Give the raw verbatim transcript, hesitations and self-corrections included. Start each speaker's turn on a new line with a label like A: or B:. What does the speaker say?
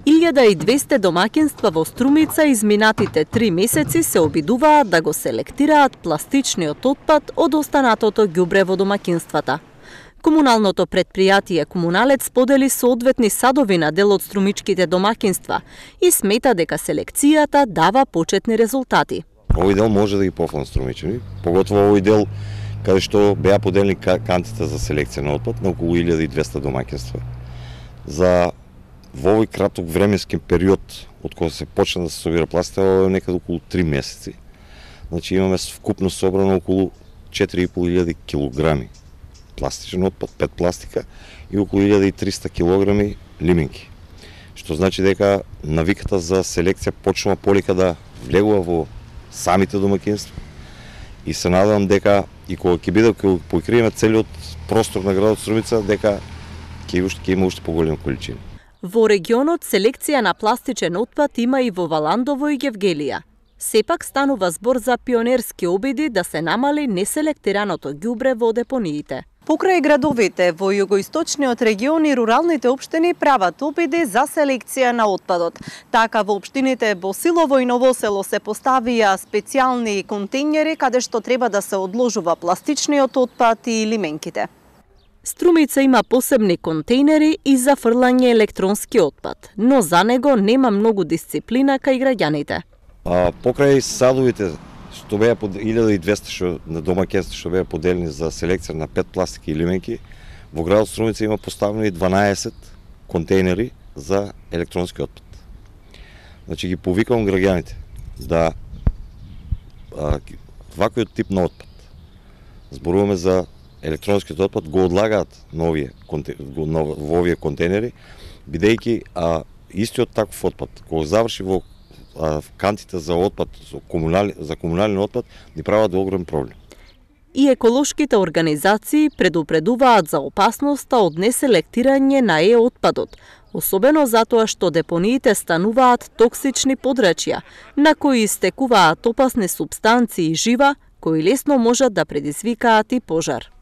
A: илјада и двесте домаќинства во Струмица изминатите три месеци се обидуваат да го селектираат пластичниот отпад од останатото ѓубре во домаќинствата. Комуналното предпријатие Комуналец сподели соодветни садови на дел од струмичките домаќинства и смета дека селекцијата дава почетни резултати.
B: Овој дел може да ги пофалам струмичани, поготово овој дел каде што беа поделени кантите за селекција на отпад на околу илјада и двесте домаќинства. За во овој краток временски период од кога се почна да се собира пластика, некаде околу три месеци. Значи имаме вкупно собрано околу четири и пол илјади килограми пластичен отпад, пет пластика и околу илјада и триста килограми лименки. Што значи дека навиката за селекција почнува полека да влегува во самите домаќинства. И се надевам дека и кога ќе биде ќе покриеме целиот простор на градот Струмица, дека ќе уште ќе има уште поголеми количини.
A: Во регионот селекција на пластичен отпад има и во Валандово и Гевгелија. Сепак станува збор за пионерски обиди да се намали неселектираното ѓубре во депониите.
C: Покрај градовите во југоисточниот регион и руралните општини прават обиди за селекција на отпадот. Така во општините Босилово и Новосело се поставија специјални контејнери каде што треба да се одложува пластичниот отпад и лименките.
A: Струмица има посебни контејнери и за фрлање електронски отпад, но за него нема многу дисциплина кај граѓаните.
B: А, покрај садовите што беа под илјада и двесте што на домаќинства што беа поделени за селекција на пет пластики и лименки, во градот Струмица има поставени дванаесет контејнери за електронски отпад. Значи ги повикувам граѓаните да а, ваквиот тип на отпад, зборуваме за електронскиот отпад, го одлагаат на овие, во овие контејнери, бидејќи а, истиот таков отпад, кога заврши во а, кантите за отпад, за, комунали, за комунален отпад, ни прават огромен проблем.
A: И еколошките организации предупредуваат за опасноста од неселектирање на е-отпадот, особено затоа што депониите стануваат токсични подрачја, на кои истекуваат опасни супстанции и жива, кои лесно можат да предизвикаат и пожар.